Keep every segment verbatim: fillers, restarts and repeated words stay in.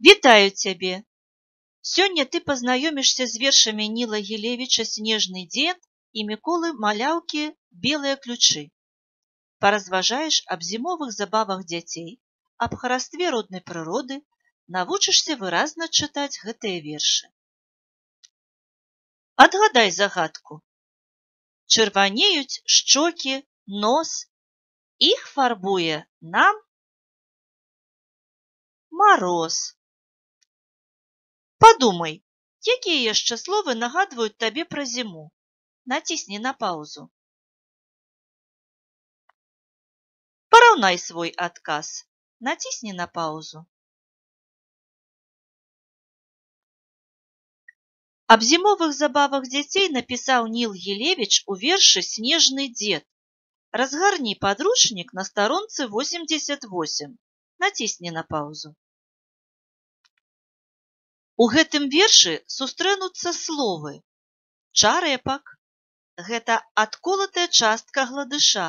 Вітаю цябе! Сёння ты пазнаёмішся з вершамі Ніла Гілевіча «Снежны дзед» і Міколы Маляўкі «Белыя ключы». Паразважаеш аб зімовых забавах дзяцей, аб харастве роднай прыроды, навучышся выразна чытаць гэтыя вершы. Адгадай загадку. Чырванеюць шчокі, нос. Іх фарбуе нам мароз. Падумай, якія яшчэ словы нагадваюць табе пра зіму? Націсні на паўзу. Параўнай свой адказ. Націсні на паўзу. Аб зімовых забавах дзяцей напісаў Ніл Гілевіч у вершы «Снежны дзед». Разгарні падручнік на старонцы восемьдесят восемь. Націсні на паўзу. У гэтым вершы сустрэнуцца словы чарэпак – гэта адколатая частка гладыша,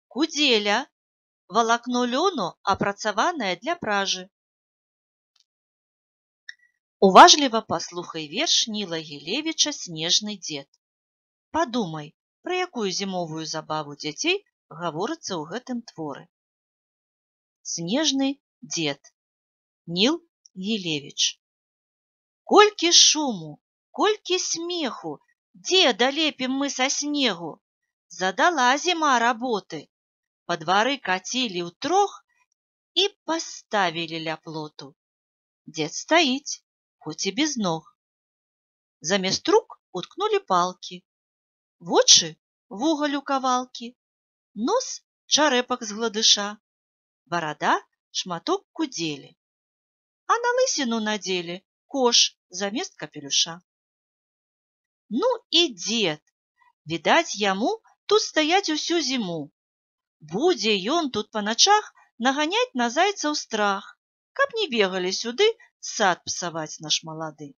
кудзеля – валакно лёну, апрацаванае для пражы. Уважліва паслухай верш Ніла Гілевіча «Снежны дзед». Падумай, пра якую зімовую забаву дзяцей гаворыцца ў гэтым творы. «Снежны дзед». Ніл Гілевіч. Колькі шуму, колькі смеху, дзеда лепім мы са снегу. Задала зіма работы. Па двары кацілі ўтрох і паставілі ля плоту. Дзед стаіць, хоць і без ног. Замест рук уткнулі палкі. Вочы вугаль у кавалкі. Нос чарэпак з гладыша. Барада шматок кудзелі. А на лысіну надзелі кош замест капелюша. Ну і дзед. Відаць, яму тут стаяць усю зіму. Будзе ён тут па начах наганяць на зайцаў страх, каб не бегалі сюды сад псаваць наш малады.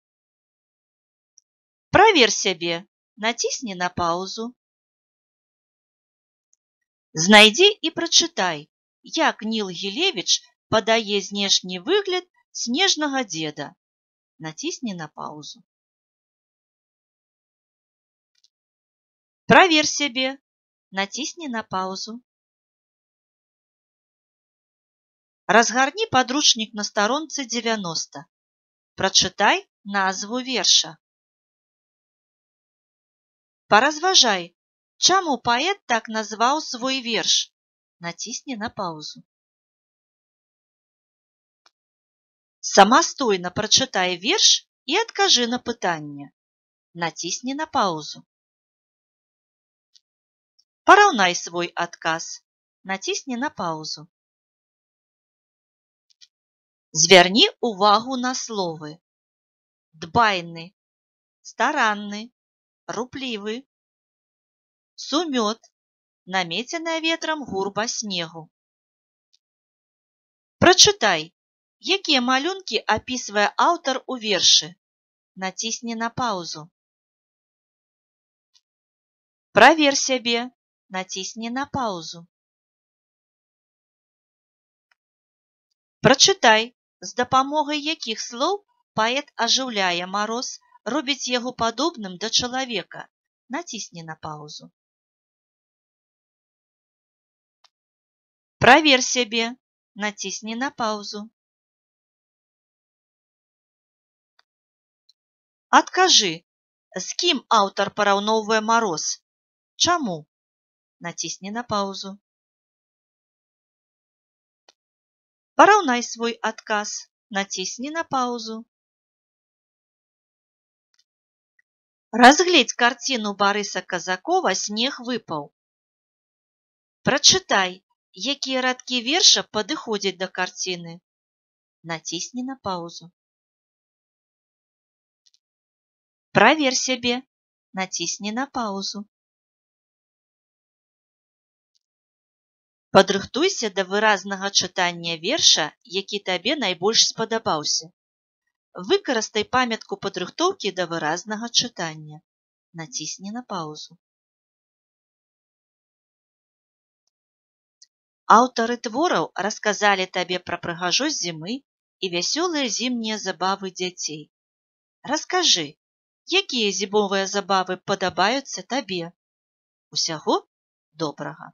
Правер сябе, націсні на паўзу. Знайдзі і прачытай, як Ніл Гілевіч падае знешні выгляд снежнага дзеда. Націсні на паўзу. Правер сябе, націсні на паўзу. Разгарні падручнік на старонцы дзевяноста. Прачытай назву верша. Паразважай, чаму паэт так назваў свой верш. Націсні на паўзу. Самастойна прачытай верш і адкажы на пытанне. Націсні на паўзу. Параўнай свой адказ. Націсні на паўзу. Звярні ўвагу на словы. Дбайны, старанны, руплівы. Сумёт, намеценая ветрам гурба снегу. Прачытай, якія малюнкі апісвае аўтар у вершы. Націсні на паўзу. Правер сябе, націсні на паўзу. Прачытай, з дапамогай якіх слоў паэт ажыўляе мароз, робіць яго падобным да чалавека. Націсні на паўзу. Правер сябе, націсні на паўзу. Адкажы, з кім аўтар параўноўвае мароз? Чаму? Націсні на паўзу. Параўнай свой адказ. Націсні на паўзу. Разгледзь карціну Барыса Казакова «Снег выпаў». Прачытай, якія радкі верша падыходзяць да карціны. Націсні на паўзу. Правер сябе, націсні на паўзу. Падрыхтуйся да выразнага чытання верша, які табе найбольш спадабаўся. Выкарыстай памятку падрыхтоўкі да выразнага чытання. Націсні на паўзу. Аўтары твораў расказалі табе пра прыгажосць зімы і вясёлыя зімнія забавы дзяцей. Раскажы, якія зімовыя забавы падабаюцца табе? Усяго добрага!